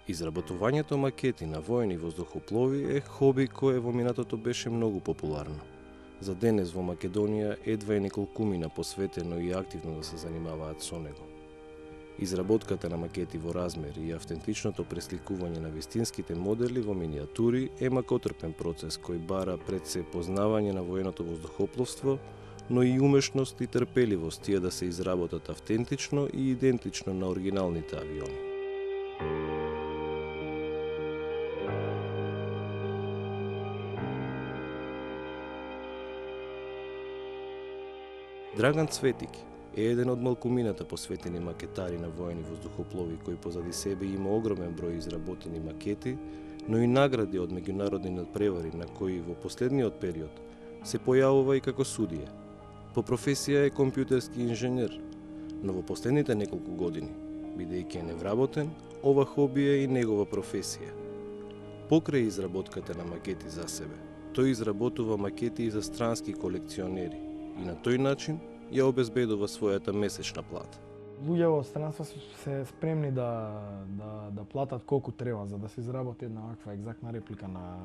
Изработувањето макети на воени воздухоплови е хоби кое во минатото беше многу популарно. За денес во Македонија едва е неколкумина посветено и активно да се занимаваат со него. Изработката на макети во размер и автентичното пресликување на вистинските модели во минијатури е макотрпен процес кој бара пред се познавање на военото воздухопловство, но и умешност и трпеливост тие да се изработат автентично и идентично на оригиналните авиони. Драган Цветики е еден од малкумината посветени макетари на воени воздухоплови кој позади себе има огромен број изработени макети, но и награди од меѓународни надпревари на кои во последниот период се појавува и како судија. По професија е компјутерски инженер, но во последните неколку години, бидејќи е невработен, ова хоби е и негова професија. Покрај изработката на макети за себе, тој изработува макети и за странски колекционери и на тој начин ја обезбедува својата месечна плата. Луѓе во странство се спремни да платат колку треба за да се изработи една ваква екзактна реплика на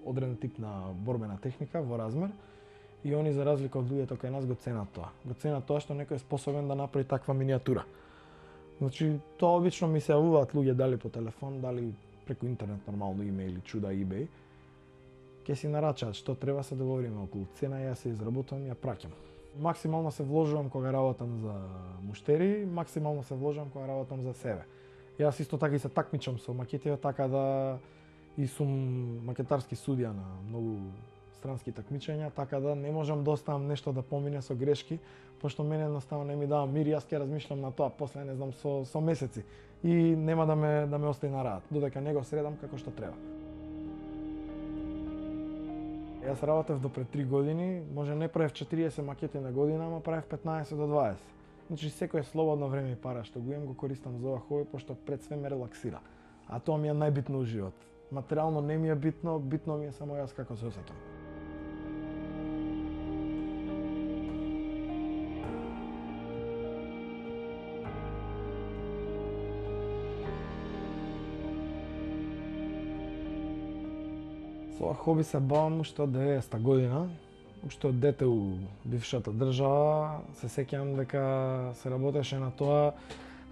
одреден тип на борбена техника во размер, и они за разлика од луѓето кај нас го ценат тоа. Го ценат тоа што некој е способен да направи таква минијатура. Значи, тоа обично ми се јавуваат луѓе дали по телефон, дали преку интернет, нормално имејли, чуда, eBay. Ке си нарачаат што треба, се договориме околу цена, ја се изработувам, ја праќам. Максимално се вложувам кога работам за муштери, максимално се вложувам кога работам за себе. Јас исто така и се такмичам со макетите, така да и сум макетарски судија на многу странски такмичења, така да не можам да оставам нешто да помине со грешки, пошто мене едноставно не ми дава мир, јас ќе размишлам на тоа после не знам со месеци и нема да ме остави на раат, додека не го средам како што треба. Јас работев до пред 3 години, може не правев 40 макети на година, ама правев 15 до 20. Значи секое слободно време и пара што го имам го користам за ова хоби, пошто пред све ме релаксира. А тоа ми е најбитно во живот. Материјално не ми е битно, битно ми е само јас како се осеќам. Со ова хоби се бавам уште од 90-та година, уште од дете у бившата држава. Се сеќавам дека се работеше на тоа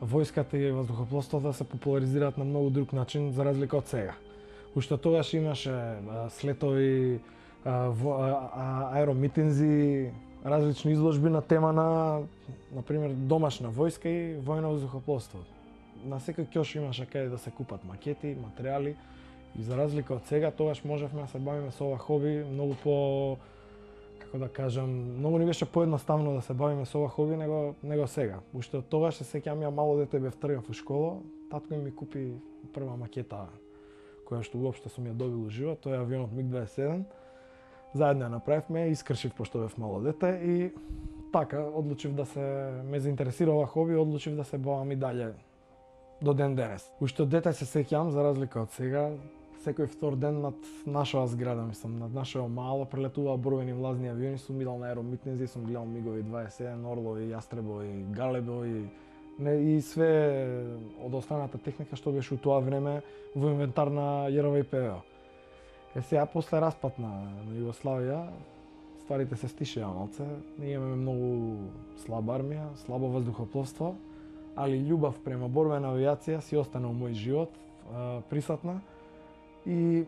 војската и воздухопловството се популаризираат на многу друг начин за разлика од сега. Уште тогаш имаше слетови, аеромитинзи, различни изложби на тема на пример домашна војска и војно воздухопловство. На секој ќош имаше каде да се купат макети, материјали. И за разлика од сега, тогаш можевме да се бавиме со ова хоби многу по, како да кажам, многу ни беше поедноставно да се бавиме со ова хоби него сега. Уште од тогаш се сеќавам, ја мало дете бев тргав у школа, татко ми купи прва макета која што уопште сум ја добил уживо, тоа е авионот МиГ-27. Заедно ја направивме, искршив пошто бев мало дете и така одлучив да ме заинтересира ова хоби, одлучив да се бавам и дале до ден денес. Уште од дете се сеќавам, за разлика од сега, секој втор ден над нашава зграда, мислам, над нашето мало прелетуваа борбени влазни авиони, сум идал на аеромитинзи, сум гледал мигови 27, орлови, јастребови, галебови и све од останата техника што беше у тоа време во инвентар на ЈРВ и ПВО. Сега после распад на Југославија, стварите се стишеа малце, ние имаме многу слаба армија, слабо воздухопловство, али љубов према борбена авијација си остана у мој живот, присутна. И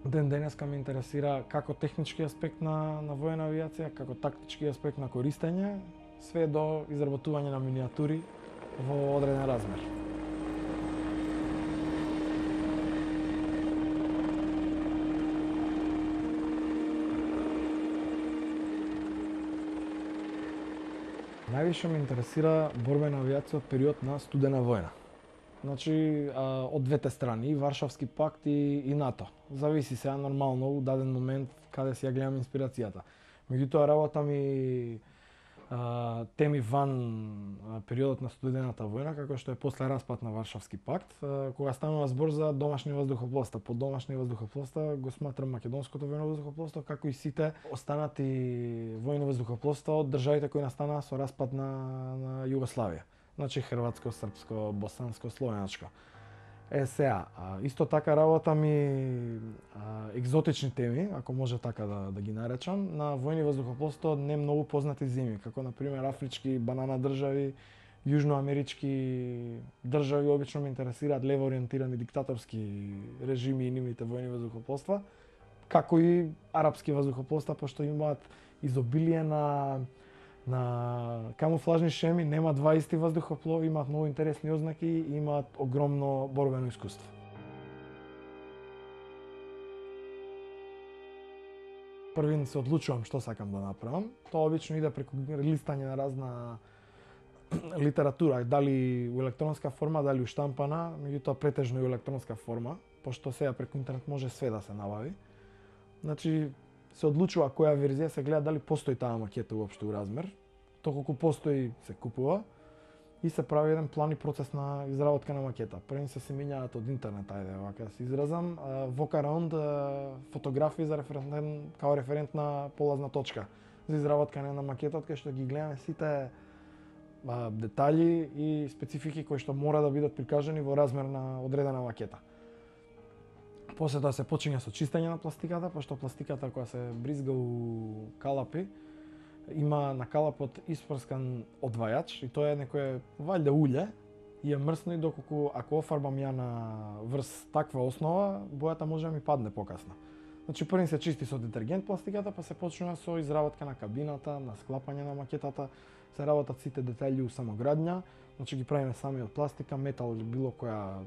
ден денеска ме интересира како технички аспект на воена авијација, како тактички аспект на користење, све до изработување на минијатури во одреден размер. Највише ме интересира борбена авијација од период на студена војна. Значи, од двете страни, и Варшавски пакт и НАТО. Зависи сега нормално у даден момент каде си ја гледам инспирацијата. Меѓутоа работам и теми ван периодот на студената војна, како што е после распад на Варшавски пакт, кога станува збор за домашни воздухопловства. Под домашни воздухопловства го сметрам македонското војно воздухопловство, како и сите останати војни воздухопловства од државите кои настанаа со распад на Југославија. Значи хрватско, српско, босанско, словеначко. Сега, исто така работам и екзотични теми, ако може така да ги наречам, на војни воздухопловство не многу познати земји, како на пример афрички банана држави, јужноамерички држави. Обично ме интересираат лево ориентирани диктаторски режими и нивните војни воздухопловства, како и арапски воздухопловства, пошто имаат изобилие на камуфлажни шеми, нема два исти воздухоплови, имаат многу интересни ознаки и имаат огромно борбено искуство. Првин се одлучувам што сакам да направам. Тоа обично иде преку листање на разна литература, дали у електронска форма, дали у штампана, меѓутоа претежно и у електронска форма, пошто сега преку интернет може све да се набави. Значи, се одлучува која верзија, се гледа дали постои таа макета уопште у размер. Доколку постои, се купува и се прави еден план и процес на изработка на макета. Први се минјаат од интернет, ајде вака да се изразам, walk-around фотографии за као референтна полазна точка за изработка на макетот, кај што ги гледаме сите детали и специфики кои што мора да бидат прикажани во размер на одредена макета. После тоа се почиња со чистење на пластиката, пошто пластиката која се бризга у калапи, има на калапот испрскан одвајач и тоа е некое валјда улје и е мрсно, и доколку ако офарбам ја на врз таква основа, бојата може да ми падне покасно. Значи први се чисти со детергент пластиката, па се почнува со изработка на кабината, на склапање на макетата, се работат сите детали у самоградња, значи ги правиме сами од пластика, метал или било кој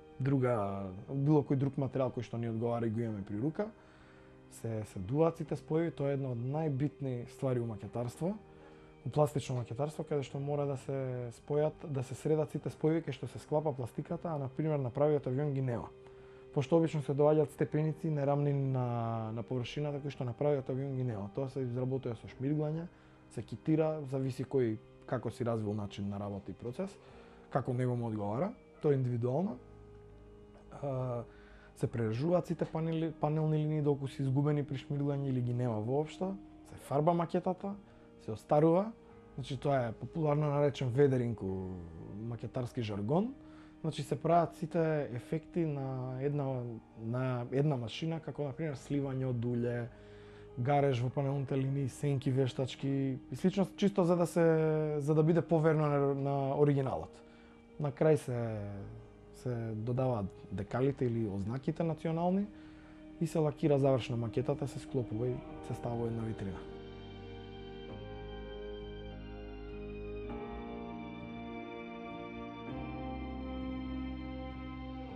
друг материјал кој што ни одговара и го имаме при рука. Се дуваат сите спојови, тоа е една од најбитни ствари у макетарство, у пластично макетарство, каде што мора да се спојат, да се средат сите спојови кај што се склапа пластиката, а на пример на правиот авион ги нема. Пошто обично се доаѓаат степеници нерамни на површината кои што на правиот авион ги нема. Тоа се изработува со шмирглање, се китира, зависи кој како си развил начин на работа и процес, како него му одговара, тоа е индивидуално. Се прережуваат сите панелни линии доколку се изгубени при шмирглање или ги нема воопшто, се фарба макетата, се остарува, значи тоа е популарно наречен ведеринг у макетарски жаргон. Значи се прават сите ефекти на една машина, како на пример сливање од улје, гареж во панелните линии, сенки вештачки и слично, чисто за да биде поверно на оригиналот. На крај се додаваат декалите или ознаките национални и се лакира завршна макетата, се склопува и се става во една витрина.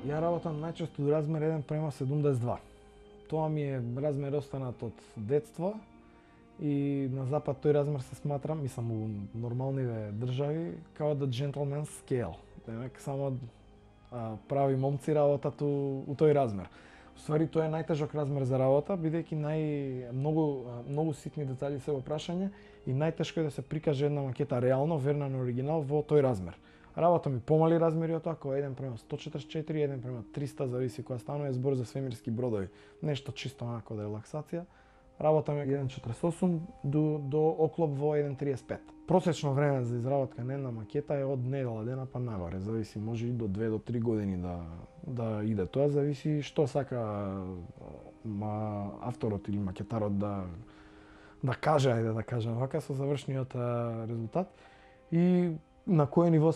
Ја работам најчесто до размер 1:72. Тоа ми е размер останат од детство и на запад тој размер се сматра, мислам у нормалниве држави, као the gentleman's scale. Демек само прави момци работат у тој размер. Уствари тоа е најтежок размер за работа, бидејќи многу ситни детали се во прашање и најтешко е да се прикаже една макета реално, верна на оригинал во тој размер. Работам и помали размери од тоа, како 1:144, 1:300, зависи која станува, е збор за свемирски бродови. Нешто чисто онако да релаксација. Работам 1:48 до оклоп во 1:35. Просечно време за изработка на една макета е од недела дена па нагоре, зависи, може и до 2 до 3 години да иде. Тоа зависи што сака авторот или макетарот да каже, ајде да кажем вака, со завршниот резултат и на кое ниво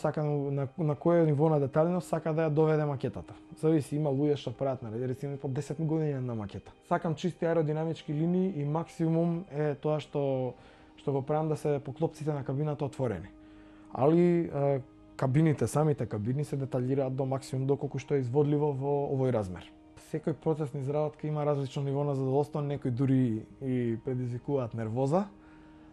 на кое ниво на деталност сака да ја доведе макетата. Зависи, има луѓе што прават рецимо по 10 години на макета. Сакам чисти аеродинамички линии и максимум е тоа што го правам да се поклопците на кабината отворени. Али самите кабини се деталираат до максимум доколку што е изводливо во овој размер. Секој процес на изработка има различно ниво на задоволство, некои дури и предизвикуваат нервоза.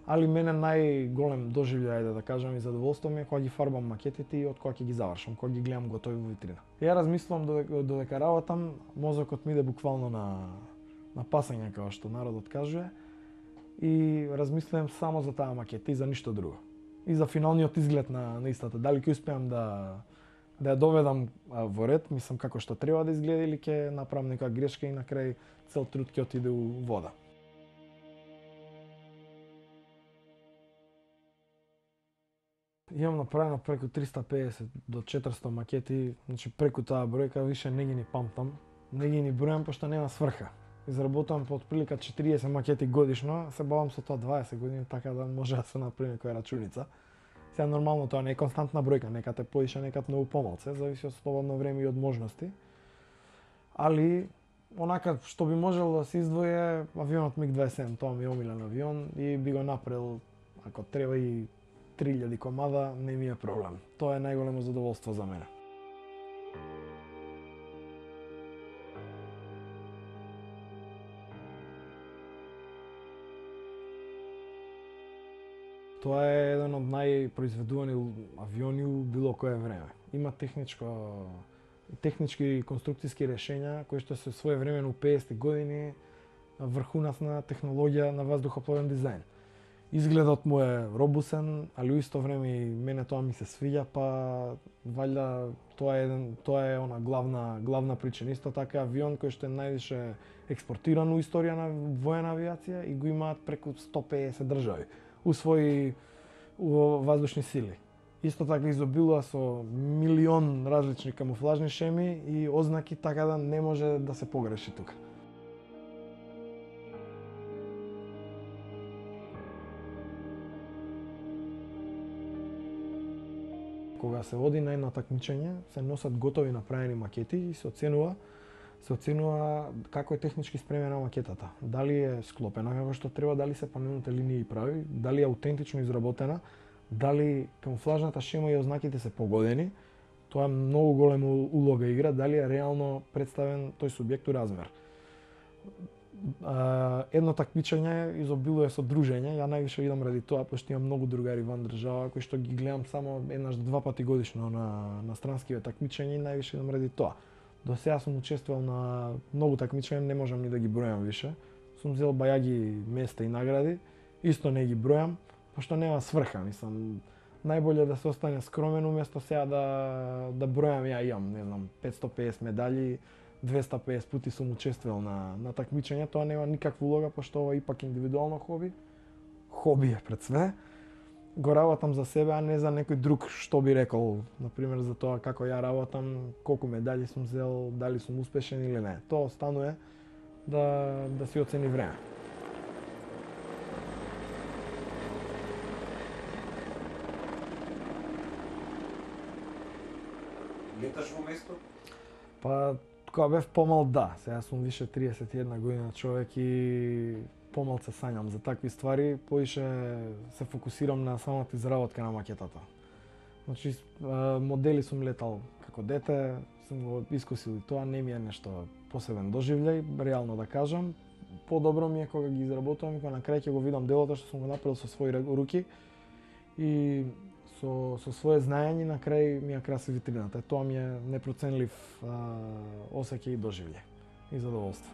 Али мене најголем доживљај, да кажам, и задоволство ми е кога ги фарбам макетите и од кога ќе ги завршам, кога ги гледам готови во витрина. Ја размислувам додека работам, мозокот ми иде буквално на пасање, како што народот кажува, и размислувам само за таа макета и за ништо друго. И за финалниот изглед на истата, дали ќе успеам да ја доведам во ред, мислам како што треба да изгледа, или ќе направам некоја грешка и на крај цел труд ќе отиде у вода. Имам направено преку 350 до 400 макети, значи преку таа бројка више не ги ни памтам. Не ги ни бројам пошто нема сврха. Изработувам по отприлика 40 макети годишно, се бавам со тоа 20 години, така да може да се направи некоја рачуница. Сега нормално тоа не е константна бројка, некад е поише, некад многу помалце, зависи од слободно време и од можности. Али онака што би можело да се издвои авионот МиГ-27, тоа ми е омилен авион и би го направил ако треба и 3000 комада, не ми е проблем. Тоа е најголемо задоволство за мене. Тоа е еден од најпроизведувани авиони у било кое време. Има технички и конструкцијски решења кои што се своевремено у 50-ти години врхунав на технологија на ваздухопловен дизајн. Изгледот му е робусен, али у исто време и мене тоа ми се свиѓа, па валјда тоа е она главна причина. Исто така авион кој што е највише експортиран у историја на воена авиација и го имаат преку 150 држави у своји воздушни сили. Исто така изобилува со милион различни камуфлажни шеми и ознаки, така да не може да се погреши тука. Кога се оди на едно такмичење, се носат готови направени макети и се оценува како е технички спремена макетата. Дали е склопена како што треба, дали се панелните линии прави, дали е аутентично изработена, дали камуфлажната шема и ознаките се погодени. Тоа многу голема улога игра, дали е реално представен тој субјект у размер. Едно такмичење изобилува со дружење, ја највише идам ради тоа, пошто имам многу другари ван држава кои што ги гледам само еднаш-два пати годишно на странскиве такмичења и највише идам ради тоа. До сега сум учествувал на многу такмичења, не можам ни да ги бројам више. Сум зел бајаги места и награди, исто не ги бројам, пошто нема сврха, мислам. Најболje да се остане скромен уместо сега да бројам, ја имам, не знам, 550 медали, 250 пати сум учествувал на такмичења, тоа нема никаква улога, пошто ова ипак индивидуално хоби. Хоби е пред све. Го работам за себе, а не за некој друг што би рекол, например за тоа како ја работам, колку медали сум зел, дали сум успешен или не. Тоа останува да си оцени време. Леташ во место? Па, кога бев помал, да. Сега сум више 31 година човек и помалце сањам за такви ствари, поише се фокусирам на самата изработка на макетата. Значи, модели сум летал како дете, сум го искусил и тоа, не ми е нешто посебен доживљај, реално да кажам. Подобро ми е кога ги изработувам и кога на крај ќе го видам делото што сум го направил со своји руки и со свое знаење на крај ми ја краси витрината. Тоа ми е непроценлив осеќај и доживљај и задоволство.